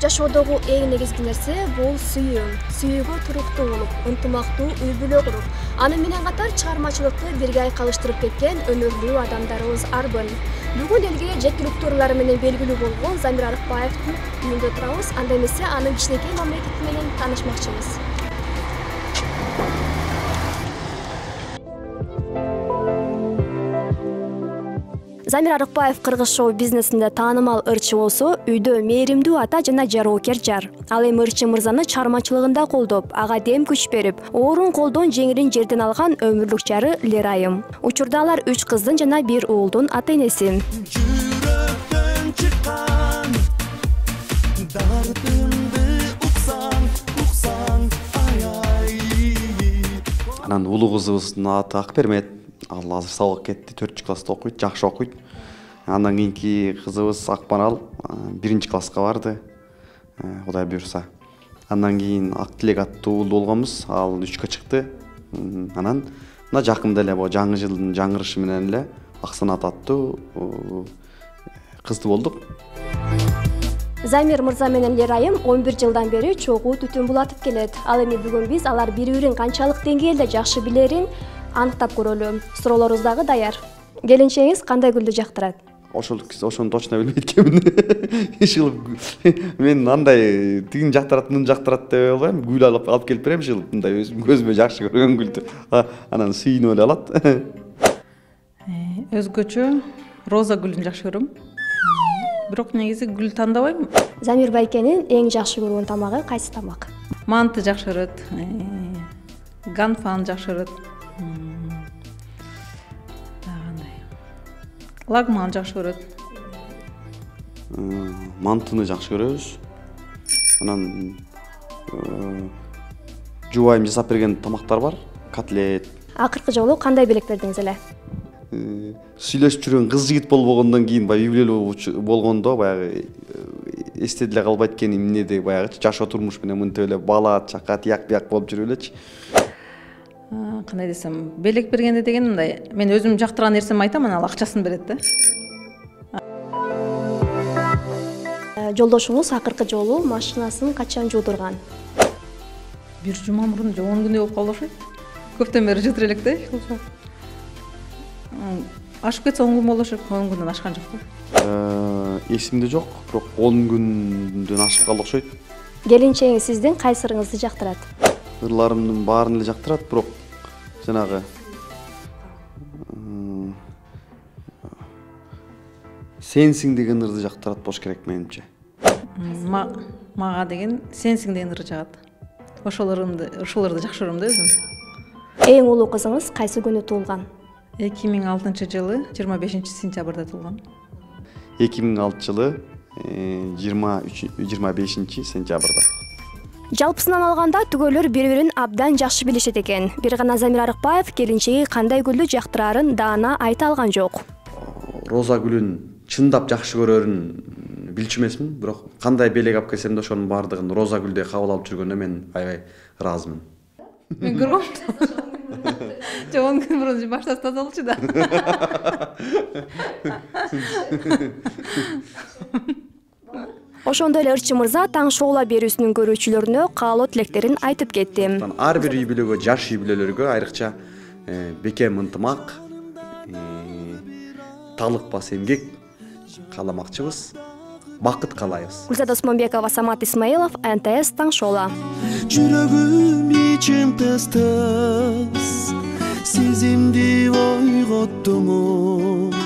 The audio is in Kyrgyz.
Жашоодогу эң негизги нерсе бул сүйүү. Сүйүүгө туруктуу болуп, ынтымактуу үй бүлө куруп, аны менен катар чыгармачылыкты бирге айкалыштырып кеткен өнөрлүү адамдарыбыз арбын. Бүгүн элге жеткиликтүү ырлары менен белгилүү болгон Замир Арыкбаевдин үйүндө турабыз. Анда эмесе анын кичинекей мамлекети менен таанышмакчыбыз. Замир Арыкбаев кыргыз шоу-бизнесинде таанымал ырчы болсо, үйдө мээримдүү ата жана жароокер жар. Ал эми ырчы мырзаны чыгармачылыгында колдоп, ага дем күч берип, оорун колдон жеңилин жерден алган өмүрлүк жары Лерайым. Учурда алар 3 кыздын жана 1 уулдун ата-энеси. Жүрөктөн чыккан дардымды уксаң ай. Анан улуу кызыбыздын аты Акбермет. Ал азыр сабак кетти, 4-класста окуйт, жакшы окуйт. Андан кийинки кызыбыз Акмарал 1-класска барды. Кудай буйрса. Андан кийин Актилек аттуу уул болгонбуз. Ал 3-кө чыкты. Анан мына жакында эле жаңы жылдын жаңырышы менен эле Аксанат аттуу кызды болдук. Замир мырза менен Лерайым 11 жылдан бери чогуу түтүн булатып келет. Ал эми бүгүн биз алар бири-бирин канчалык деңгээлде жакшы билерин аныктап көрөлү. Суроолорубуз дагы даяр. Келинчегиңиз кандай гүлдү жактырат? Ошону точно билбейт экенмин. Ишыл мен андай тигин жактырат, муну жактырат деп албайм. Гүл алып келип берем ишыл. Мындай өзүм көзүмө жакшы көргөн гүлдү. Анан сүйүнүп эле алат. Өзгөчө роза гүлүн жакшы көрөм. Бирок негизи гүл тандабайм. Замир байкенин эң жакшы көргөн тамагы кайсы тамак? Манты жакшы көрөт. Ганфан жакшы көрөт. Лагман жакшы көрөт. Мантыны жакшы көрөбүз. Анан жубайым жасап берген тамактар бар. Котлет. Акыркы жолу кандай белек бердиңиз эле? Сүйлөшүп жүргөн кыз жигит болгондон кийин баягы юбилейлүү болгондо баягы эсте деле калбайт экен эмнеде баягы жашоо турмуш менен мынтип эле бала чака тияк бияк болуп жүрүп элечи. Кандай десем, белек бергенде деген мындай, мен өзүм жактырган нерсемди айтам, анан ал акчасын берет да. Жолдошуңуз акыркы жолу машинасын качан жуудурган? 1 жума мурун же 10 күндөй болуп калды окшойт. Көптөн бери жуудур элек да. Ашып кетсе 10 күн болушу, 10 күндөн ашкан жок да. Эсимде жок, бирок 10 күндөн ашып калды окшойт. Келинчегиңиз сиздин кайсы ырыңызды жактырат? Ырларымдын баарын эле жактырат, бирок жанагы сенсиң деген ырды жактырат болуш керек менимче. Мага деген сенсиң деген ыры жагат. Ошол ырды жакшы көрөм да өзүм. Эң улуу кызыңыз кайсы күнү туулган? 2006 жылы 25 сентябрда туулган. 2006 жылы 25 сентябрда. Жалпысынан алганда түгөлөр бири-бирин абдан жакшы билишет экен. Бир гана Замир Арыкбаев келинчеги кандай гүлдү жактырарын даана айта алган жок. Роза гүлүн чындап жакшы көрөрүн билчү эмесмин, бирок кандай белек алып келсем да ошонун баардыгын роза гүлдөй кабыл алып жүргөнүнө мен аябай ыраазымын. Мен көргөм. Же 10 күн мурун баштап тазалчу да. Ошондой эле ырчы мырза таң шоула берүүсүнүн көрүүчүлөрүнө каалоо тилектерин айтып кетти. Ар бир үй бүлөгө, жаш үй бүлөлөргө айрыкча бекем ынтымак, талыкпас эмгек кааламакчыбыз. Бакыт каалайбыз. Гүлзада Осмонбекова, Самат Исмаилов, НТС таң шоула. Жүрөгүм ичим тыз-тыз, сезимди ойготтуңуз.